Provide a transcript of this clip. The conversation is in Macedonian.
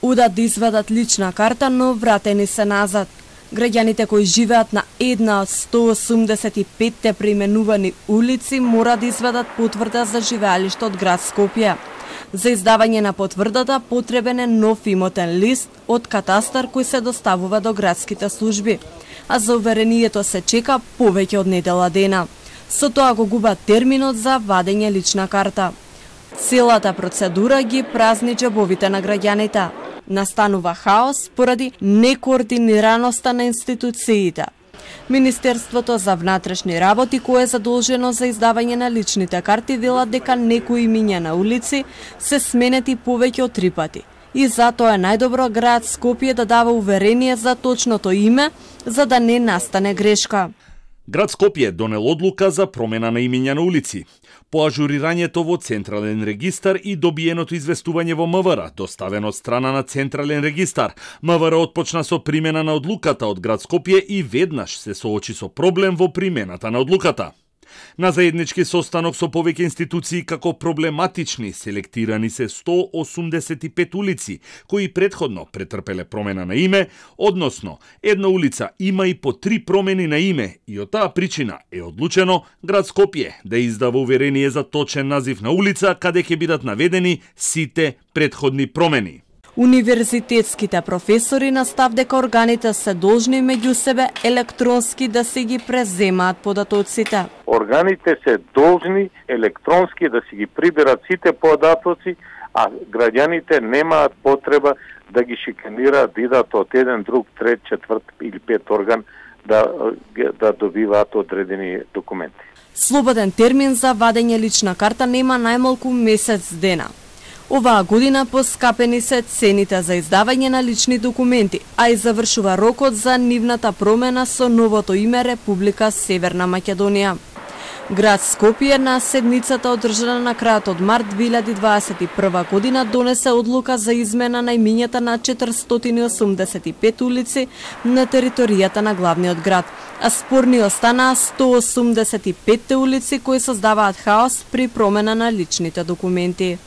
Удат да извадат лична карта, но вратени се назад. Граѓаните кои живеат на една од 185 преименувани улици мора да извадат потврда за живеалиште од град Скопје. За издавање на потврдата потребен е нов имотен лист од катастар кој се доставува до градските служби, а за уверението се чека повеќе од недела дена. Со тоа го губат терминот за вадење лична карта. Целата процедура ги празни џебовите на граѓаните. Настанува хаос поради некоординираноста на институциите. Министерството за внатрешни работи, кое е задолжено за издавање на личните карти, велат дека некои имиња на улици се сменети повеќе од 3 пати. И затоа е најдобро град Скопје да дава уверение за точното име, за да не настане грешка. Град Скопје донел одлука за промена на имиња на улици. По ажурирањето во Централен регистар и добиеното известување во МВР, доставено од страна на Централен регистар, МВР отпочна со примена на одлуката од град Скопје и веднаш се соочи со проблем во примената на одлуката. На заеднички состанок со повеќе институции како проблематични селектирани се 185 улици, кои претходно претрпеле промена на име, односно една улица има и по 3 промени на име и од таа причина е одлучено град Скопје да издава уверение за точен назив на улица каде ќе бидат наведени сите претходни промени. Универзитетските професори настав дека органите се должни меѓу себе електронски да си ги преземаат податоците. Органите се должни електронски да си ги приберат сите податоци, а граѓаните немаат потреба да ги шиканираат, да идат од еден, друг, трет, четврт или пет орган да добиваат одредени документи. Слободен термин за вадење лична карта нема најмалку месец дена. Оваа година поскапени се цените за издавање на лични документи, а и завршува рокот за нивната промена со новото име Република Северна Македонија. Град Скопје на седницата одржана на крајот од март 2021 година донесе одлука за измена на имињата на 485 улици на територијата на главниот град, а спорни останаа 185 улици кои создаваат хаос при промена на личните документи.